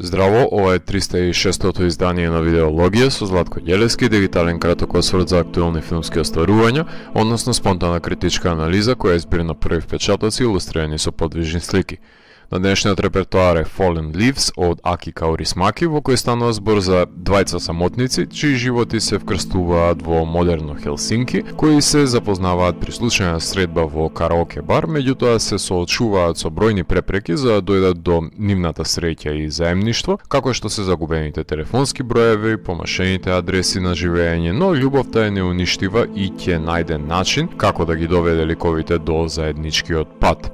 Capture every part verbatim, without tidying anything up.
Здраво, ова е триста и шестото издание на Видеологија со Златко Ѓелевски, дигитален краток осврт за актуелни филмски остварувања, односно спонтана критичка анализа која е збир на први впечатоци илустрирани со подвижни слики. На денешниот репертоар е Fallen Leaves од Аки Каурисмаки, во кој станува збор за двајца самотници, чии животи се вкрстуваат во модерно Хелсинки, кои се запознаваат при случајна средба во караоке бар, меѓутоа се соочуваат со бројни препреки за да дојдат до нивната среќа и заемништво, како што се загубените телефонски броеви, помашените адреси на живење, но љубовта е неуништива и ќе најде начин како да ги доведе ликовите до заедничкиот пат.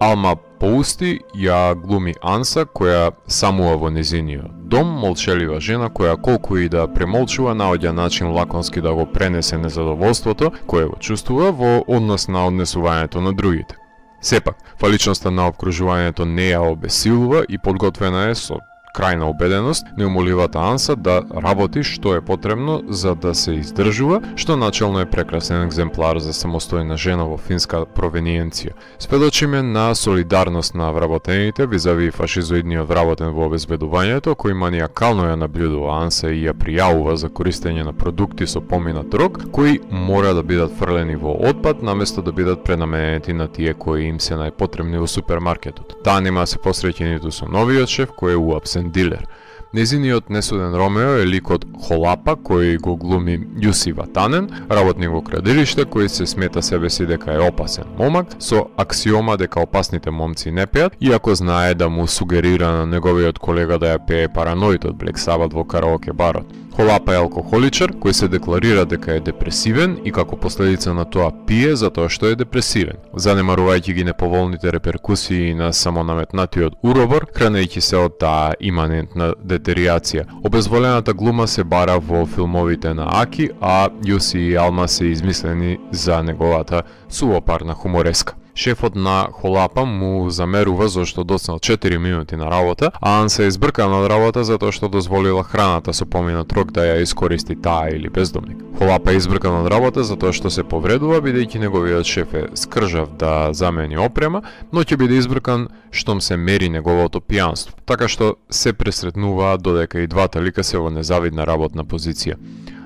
Алма Поусти ја глуми Анса, која самува во незиниот дом, молчелива жена која колку и да премолчува наоѓа начин лаконски да го пренесе незадоволството кое го чувствува во однос на однесувањето на другите. Сепак, фаличноста на обкружувањето не ја обесилува и подготвена е со крајна убеденост неумоливата Анса да работи што е потребно за да се издржува, што начелно е прекрасен екземплар за самостојна жена во финска провениенција. Сведочиме на солидарност на вработените визави фашизоидниот вработен во обезбедувањето, кој маниакално ја наблюдува Анса и ја пријавува за користење на продукти со поминат рок, кои мора да бидат фрлени во отпад наместо да бидат пренаменети на тие кои им се најпотребни во супермаркетот. Таа нема се посреќи ниту со новиот шеф кој е уапсен дилер. Незиниот несуден Ромео е ликот Холапа, кој го глуми Јуси Ватанен, работник во градилиште кој се смета себе си дека е опасен момак, со аксиома дека опасните момци не пеат, иако знае да му сугерира на неговиот колега да ја пее Параноид од Black Sabbath во караоке барот. Холапа е алкохоличар кој се декларира дека е депресивен и како последица на тоа пие затоа што е депресивен. Занемарувајќи ги неповолните реперкусии на самонаметнатиот уробор, хранејќи се од таа иманентна детериација. Обезволената глума се бара во филмовите на Аки, а Јуси и Алма се измислени за неговата сувопарна хумореска. Шефот на Холапа му замерува зашто доцнал четири минути на работа, а Анса е избркана од работа затоа што дозволила храната со поминат рок да ја искористи таа или бездомник. Холапа е избркан од работа затоа што се повредува бидејќи неговиот шеф е скржав да замени опрема, но ќе биде избркан штом се мери неговото пијанство. Така што се пресретнуваат додека и двата лика се во незавидна работна позиција.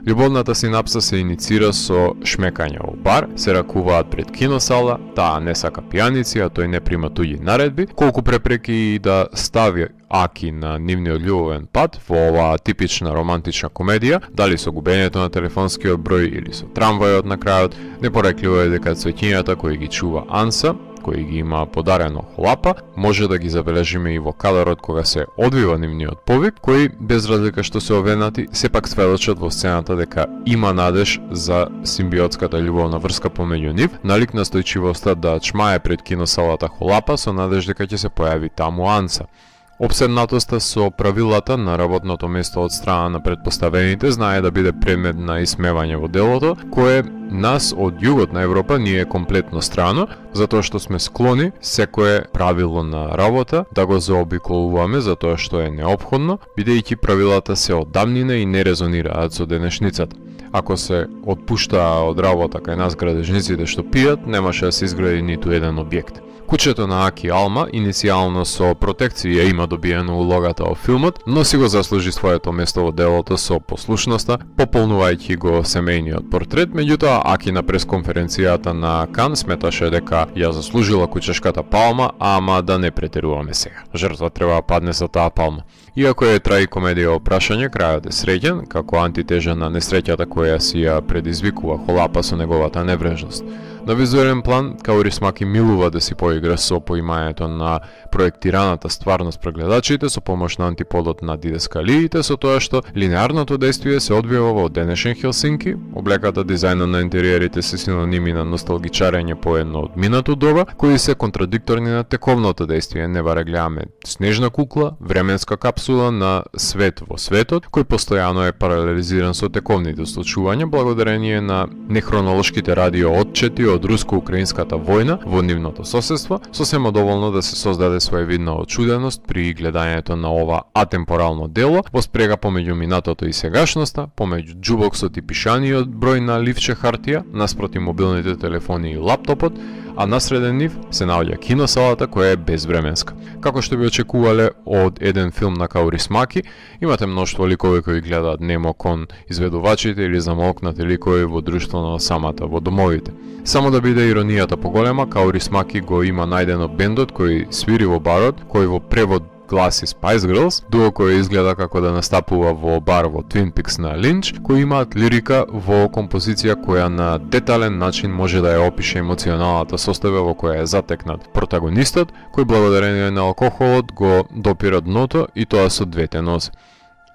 Љубовната синапса се иницира со шмекање во бар, се ракуваат пред киносала, таа не сака пијаници, а тој не прима туѓи наредби, колку препреки и да стави Аки на нивниот љубовен пат во оваа типична романтична комедија, дали со губењето на телефонскиот број или со трамвајот на крајот, непорекливо е дека цвеќињата кои ги чува Анса, кои ги има подарено Холапа, може да ги забележиме и во кадарот кога се одвива нивниот повик, кои без разлика што се овенати, сепак сведочат во сцената дека има надеж за симбиотската љубовна врска помеѓу нив, налик настојчивоста да чмае пред киносалата Холапа со надеж дека ќе се појави таму Анса. Обседнатоста со правилата на работното место од страна на предпоставените знае да биде предмет на исмевање во делото, кое нас од југот на Европа ни е комплетно страно, затоа што сме склони секое правило на работа да го заобиколуваме затоа што е неопходно, бидејќи правилата се од давнина и не резонираат со денешницата. Ако се отпуштаа од работа кај нас градежниците што пијат, немаше да се изгради ниту еден објект. Кучето на Аки Алма иницијално со протекција има добиено улогата во филмот, но си го заслужи своето место во делото со послушноста, пополнувајќи го семејниот портрет, меѓутоа Аки на пресконференцијата на Кан сметаше дека ја заслужила кучешката палма, ама да не претеруваме сега. Жртва треба да падне за таа палма. Иако е трагикомедија во прашање, крајот е среќен, како антитежа на несреќата која си ја предизвикува Холапа со неговата неврежност. На визуелен план, Каурисмаки милува да си поигра со поимањето на проектираната стварност пред гледачите со помош на антиподот на дидескалиите, со тоа што линеарното дејствие се одвива во денешен Хелсинки, облеката, дизајнот на интериерите се синоними на носталгичарење по едно од минато доба, кои се контрадикторни на тековното дејствие. Не баре гледаме снежна кукла, временска капсула на свет во светот, кој постојано е паралелизиран со тековните случувања благодарение на нехронолошките радио отчети од руско-украинската војна во нивното соседство, сосема доволно да се создаде своевидна очуденост при гледањето на ова атемпорално дело, во спрега помеѓу минатото и сегашноста, помеѓу џубоксот и пишаниот број на ливче хартија, наспроти мобилните телефони и лаптопот, а насреден нив се наоѓа киносалата која е безвременска. Како што би очекувале од еден филм на Каурисмаки, имате мноштво ликови кои гледаат немо кон изведувачите или замолкнати ликови во друштво на самата во домовите. Само да биде иронијата поголема, Каурисмаки го има најдено бендот кој свири во барот, кој во превод гласи Spice Girls, дуо кој изгледа како да настапува во бар во Twin Peaks на Линч, кои имаат лирика во композиција која на детален начин може да ја опише емоционалната состојба во која е затекнат протагонистот, кој благодарение на алкохолот го допира дното и тоа со двете нозе.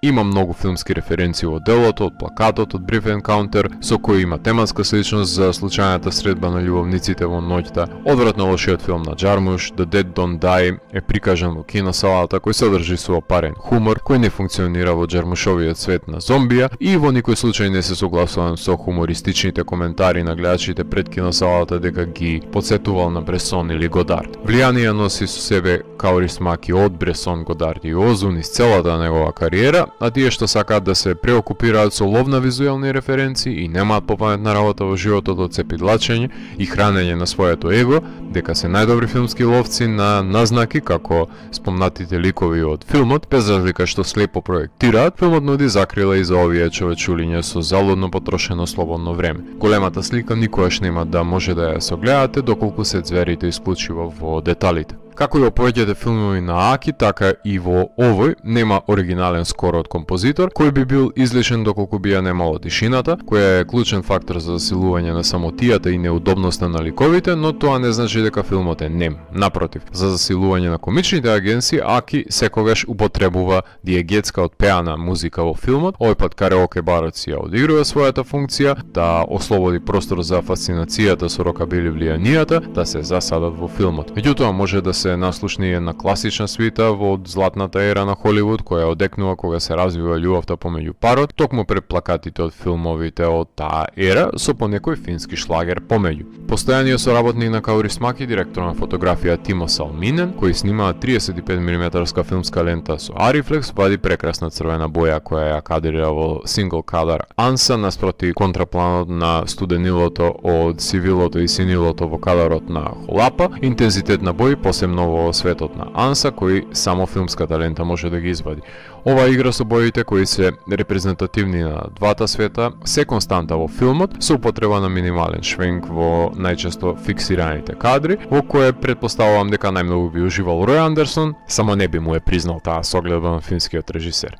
Има многу филмски референции во делото, од плакатот од Brief Encounter, со кој има тематска сличност за случајната средба на љубовниците во ноќта. Одвратно лошиот филм на Джармуш, The Dead Don't Die, е прикажан во киносалата, кој содржи суопарен хумор, кој не функционира во Джармушовиот свет на зомбија и во никој случај не се согласувам со хумористичните коментари на гледачите пред киносалата дека ги подсетувал на Бресон или Годард. Влијание носи со себе Каурисмаки од Бресон, Годард и Озун из целата негова кариера, а тие што сакаат да се преокупираат со лов на визуелни референции и немаат попаметна работа во животот од цепидлачење и хранење на своето его, дека се најдобри филмски ловци на назнаки како спомнатите ликови од филмот, без разлика што слепо проектираат, филмот нуди закрила и за овие човечулиња со залудно потрошено слободно време. Големата слика никогаш нема да може да ја согледате доколку се зверите исклучиво во деталите. Како и во повеќето филмови на Аки, така и во овој нема оригинален скор од композитор, кој би бил излишен доколку би ја немало тишината, која е клучен фактор за засилување на самотијата и неудобноста на ликовите, но тоа не значи дека филмот е нем. Напротив, за засилување на комичните агенции, Аки секогаш употребува диегетска отпеана музика во филмот, овој пат караоке барот си ја одигрува својата функција, да ослободи простор за фасцинацијата со рокабили влијанијата, да се засадат во филмот. Меѓутоа може да се наслушни една класична свита во златната ера на Холивуд, која одекнува кога се развива љубовта помеѓу парот, токму пред плакатите од филмовите од таа ера, со понекој фински шлагер помеѓу. Постојаниот соработник на Каурисмаки, директор на фотографија Тимо Салминен, кој снима триесет и пет милиметарска филмска лента со Арифлекс, вади прекрасна црвена боја која ја кадрира во single color анса наспроти контрапланот на студенилото од сивилото и синилото во кадарот на Холапа, интензитет на бои посебно во светот на анса кој само филмската лента може да ги извади. Ова игра со боите кои се репрезентативни на двата света се константа во филмот со употреба на минимален швенк во најчесто фиксираните кадри, во кое предпоставувам дека најмногу би уживал Рој Андерсон, само не би му е признал таа согледба на финскиот режисер.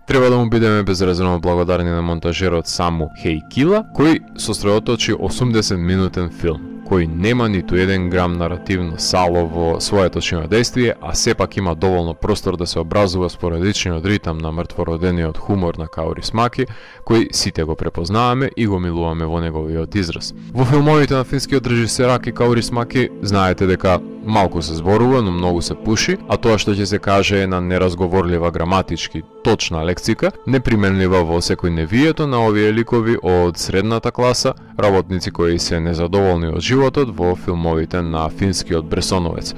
Треба да му бидеме безрезервно благодарни на монтажерот Саму Хејкила, кој сосредоточи осумдесет минутен филм, кој нема ниту еден грам наративно сало во своето чинодействие, а сепак има доволно простор да се образува спорадичниот ритам на мртвородениот хумор на Каурисмаки, кој сите го препознаваме и го милуваме во неговиот израз. Во филмовите на финскиот режисер Аки Каурисмаки знаете дека малку се зборува, но многу се пуши, а тоа што ќе се каже е на неразговорлива граматички точна лексика, неприменлива во секој невието на овие ликови од средната класа, работници кои се незадоволни од животот во филмовите на финскиот Бресоновец.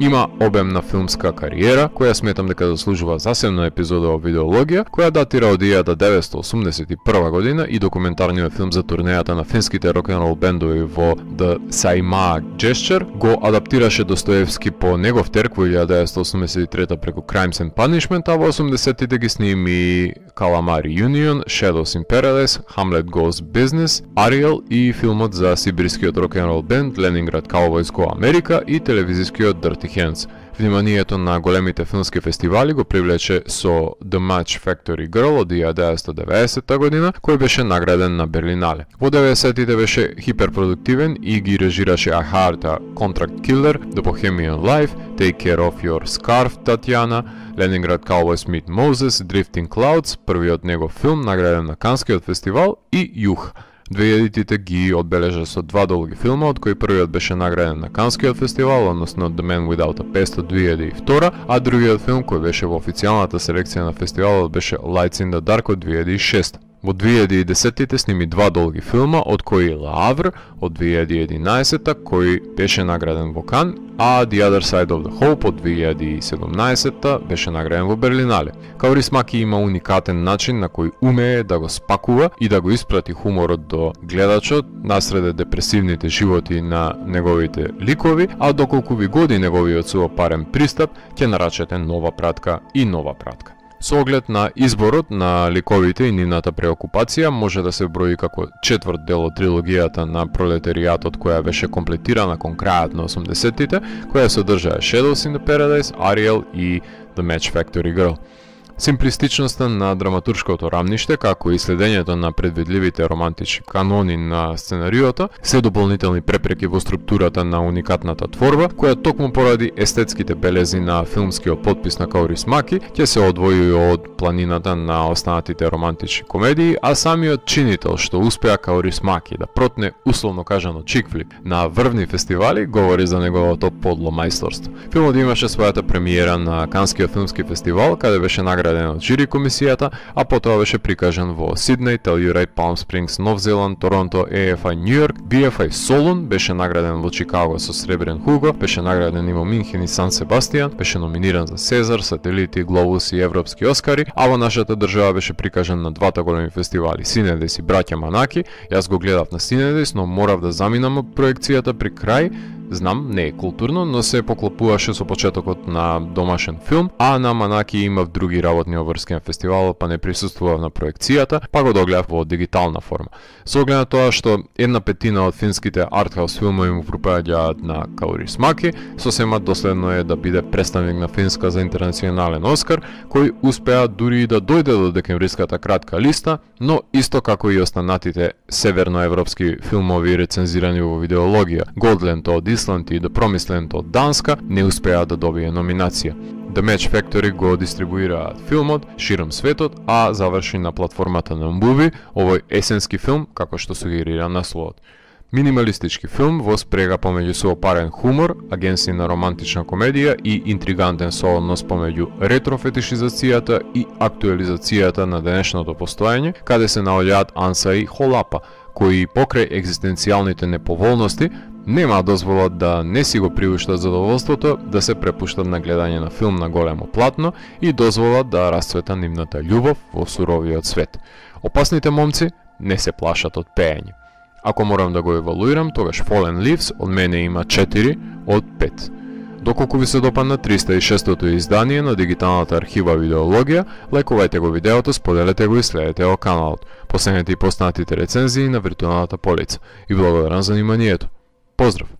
Има обемна филмска кариера, која сметам дека заслужува засебна епизода во видеологија, која датира од илјада деветстотини осумдесет и прва година и документарниот филм за турнејата на финските рок-н-рол бендови во The Saimaa Gesture го адаптираше Достоевски по негов терк во илјада деветстотини осумдесет и трета преку Crimes and Punishment, а во осумдесеттите ги сними Calamari Union, Shadows in Paradise, Hamlet Goes Business, Ariel и филмот за сибирскиот рок-н-рол бенд Leningrad Cowboys Go America и телевизискиот Dirty Hands. Вниманието на големите филмски фестивали го привлече со The Match Factory Girl од илјада деветстотини и деветдесета година, кој беше награден на Берлинале. Во деветдесеттите беше хиперпродуктивен и ги режираше A Heart, A Contract Killer, The Bohemian Life, Take Care of Your Scarf, Татјана, Leningrad Cowboys Meet Moses, Drifting Clouds, првиот негов филм награден на Канскиот фестивал, и Јух. две илјадите ги одбележа со два долги филма, од кои првиот беше награден на Канскиот фестивал, односно The Man Without a Past од две илјади и втора, а другиот филм кој беше во официјалната селекција на фестивалот беше Lights in the Dark од две илјади и шеста. Во две илјади и десеттите сними два долги филма, од кои Лавр од две илјади и единаесетта, кој беше награден во Кан, а The Other Side of the Hope од две илјади и седумнаесетта беше награден во Берлинале. Каурисмаки има уникатен начин на кој умее да го спакува и да го испрати хуморот до гледачот насреде депресивните животи на неговите ликови, а доколку ви годи неговиот суопарен пристап, ќе нарачете нова пратка и нова пратка. Со оглед на изборот на ликовите и нивната преокупација може да се брои како четврт дел од трилогијата на Пролетаријатот, која беше комплетирана кон крајот на осумдесеттите, која содржаа Shadows in the Paradise, Ariel и The Match Factory Girl. Симплистичноста на драматуршкото рамниште, како и следењето на предвидливите романтични канони на сценариото, се дополнителни препреки во структурата на уникатната творба, која токму поради естетските белези на филмскиот потпис на Каурисмаки ќе се одвојува од планината на останатите романтични комедии, а самиот чинител што успеа Каурисмаки да протне условно кажано чикфлик на врвни фестивали говори за неговото подло мајсторство. Филмот имаше својата премиера на Канскиот филмски фестивал, каде беше награден од жири комисијата, а потоа беше прикажан во Сиднеј, Телјурайт, Палм Спрингс, Нов Зеланд, Торонто, Ей Еф Ај Нью Йорк, Би Еф Ај Солун, беше награден во Чикаго со Сребрен Хуго, беше награден и во Минхен и Сан Себастијан, беше номиниран за Сезар, Сателити, Глобус и Европски Оскари, а во нашата држава беше прикажан на двата големи фестивали, Синедес и Браќа Манаки. Јас го гледав на Синедес, но морав да заминам од проекцијата при крај. Знам, не е културно, но се поклопуваше со почетокот на домашен филм, а на Манаки имав други работни обврски на фестивалот, па не присуствував на проекцијата, па го догледав во дигитална форма. Со оглед на тоа што една петина од финските артхаус филмови му припаѓаат на Каурисмаки, сосема доследно е да биде представник на Финска за интернационален Оскар, кој успеа дури и да дојде до декемвриската кратка листа, но исто како и останатите северноевропски филмови рецензирани во видеологија, Голдленд од Исланд и The Promised од Данска, не успеа да добие номинација. The Match Factory го дистрибуираат филмот широм светот, а заврши на платформата на Муви, овој есенски филм, како што сугерира насловот. Минималистички филм во спрега помеѓу суопарен хумор, агенција на романтична комедија и интригантен сооднос помеѓу ретрофетишизацијата и актуализацијата на денешното постоење, каде се наоѓаат Анса и Холапа, кои покрај екзистенцијалните неповолности нема дозволат да не си го приуштат задоволството да се препуштат на гледање на филм на големо платно и дозволат да расцвета нивната љубов во суровиот свет. Опасните момци не се плашат од пеење. Ако морам да го евалуирам, тогаш Fallen Leaves од мене има четири од пет. Доколку ви се допадна триста и шестото издание на дигиталната архива Видеологија, лајкувајте го видеото, споделете го и следете го каналот. Последете и поснатите рецензии на виртуелната полица. И благодарам за вниманието. Поздрав!